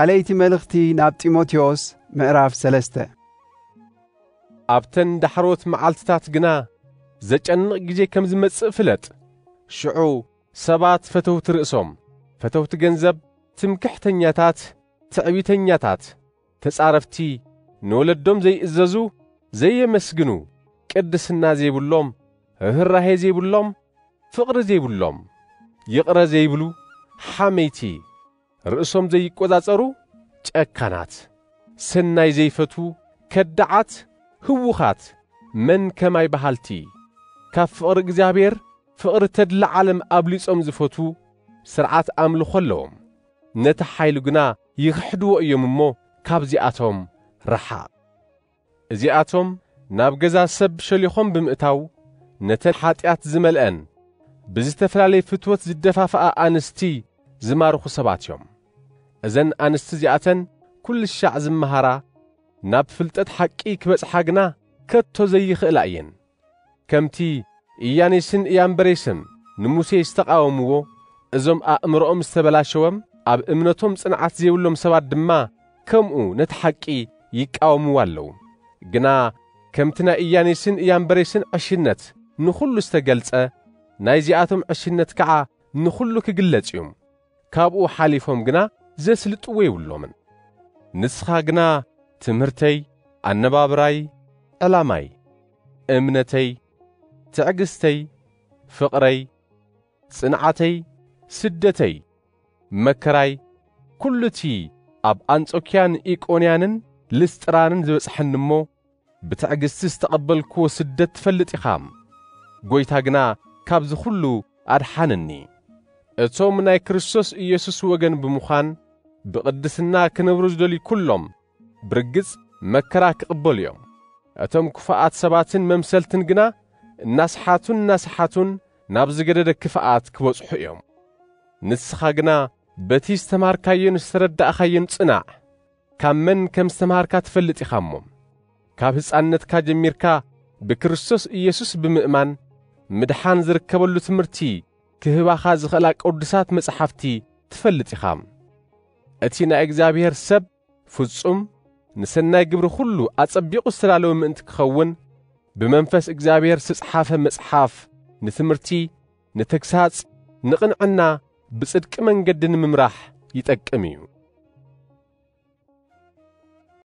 ካልኣይቲ መልእኽቲ ናብ ጢሞቴዎስ ምዕራፍ ሰለስተ። ኣብተን ዳሕሮት መዓልትታት ግና ዘጨንቕ ግዜ ከም ዝመጽእ ፍለጥ። ሽዑ ሰባት ፈተውቲ ርእሶም፣ ፈተውቲ ገንዘብ፣ ትምክሕተኛታት፣ ትዕቢተኛታት፣ ተጻረፍቲ፣ ንወለዶም ዘይእዘዙ፣ ዘየመስግኑ፣ ቅድስና ዘይብሎም፣ ርህራሄ ዘይብሎም፣ ፍቕሪ ዘይብሎም፣ ይቕረ ዘይብሉ፣ ሓመይቲ፣ ርእሶም ዘይቆጻጸሩ፣ ጨካናት፣ ሰናይ ዘይፈትዉ፣ ከዳዓት፣ ህዉኻት፣ መን ከማይ በሃልቲ፣ ካብ ፍቕሪ እግዚኣብሔር፣ ፍቕሪ ተድላ ዓለም ኣብሊጾም ዝፈትዉ፣ ስርዓት ኣምልኾ ኣለዎም። ነቲ ሓይሉ ግና ይኽሕድዎ እዮም እሞ፣ ካብዚኣቶም ርሓቕ። እዚኣቶም ናብ ገዛ ሰብ ሸሊኾም ብምእታው፣ ነተን ሓጢኣት ዝመልአን ብዝተፈላለየ ፍትወት ዝደፋፍኣ ኣንስቲ ዝማርኹ ሰባት እዮም። እዘን ኣንስቲ እዚኣተን ኩሉ ሻዕ ዝመሃራ፣ ናብ ፍልጠት ሓቂ ክበጽሓ ግና ከቶ ዘይኽእላ እየን። ከምቲ ኢያኔስን ኢያምበሬስን ንሙሴ ዝተቓወምዎ፣ እዞም ኣእምሮኦም ዝተበላሸወም ኣብ እምነቶም ጽንዓት ዘይብሎም ሰባት ድማ ከምኡ ነቲ ሓቂ ይቃወምዎ ኣለዉ። ግና ከምቲ ናይ ኢያኔስን ኢያምበሬስን ዕሽነት ንኹሉ ዝተገልጸ፣ ናይዚኣቶም ዕሽነት ከኣ ንኹሉ ክግለጽ እዩ። ካብኡ ሓሊፎም ግና ዘስልጥዎ የብሎምን። ንስኻ ግና ትምህርተይ፣ ኣነባብራይ፣ ዕላማይ፣ እምነተይ፣ ትዕግስተይ፣ ፍቕረይ፣ ጽንዓተይ፣ ስደተይ፣ መከራይ፣ ኩሉ እቲ ኣብ ኣንጾክያን ኢቆንያንን ልስጥራንን ዝበጽሐኒ እሞ፣ ብትዕግስቲ ዝተቐበልክዎ ስደት ትፈልጥ ኢኻ። ጐይታ ግና ካብዚ ኹሉ ኣድሓነኒ። እቶም ናይ ክርስቶስ ኢየሱስ ወገን ብምዃን ብቕድስና ክነብሩ ዝደልዩ ኩሎም ብርግጽ መከራ ክቕበሉ እዮም። እቶም ክፉኣት ሰባትን መምሰልትን ግና እናስሓቱን እናስሓቱን ናብ ዝገደደ ክፍኣት ክበጽሑ እዮም። ንስኻ ግና በቲ ዝተማሃርካዮን ዝተረዳእኻዮን ጽናዕ። ካብ መን ከም ዝተማሃርካ ትፈልጥ ኢኻ እሞ፣ ካብ ህፃንነትካ ጀሚርካ ብክርስቶስ ኢየሱስ ብምእማን ምድሓን ዝርከበሉ ትምህርቲ ክህባኻ ዝኽእላ ቅዱሳት መጻሕፍቲ ትፈልጥ ኢኻ። እቲ ናይ እግዚኣብሔር ሰብ ፍጹም፣ ንሰናይ ግብሪ ኹሉ ኣጸቢቑ ዝተዳለወ ምእንቲ ክኸውን፣ ብመንፈስ እግዚኣብሔር ዝተጽሓፈ መጽሓፍ ንትምህርቲ፣ ንተግሳጽ፣ ንቕንዕና፣ ብጽድቂ መንገዲ ንምምራሕ ይጠቅም እዩ።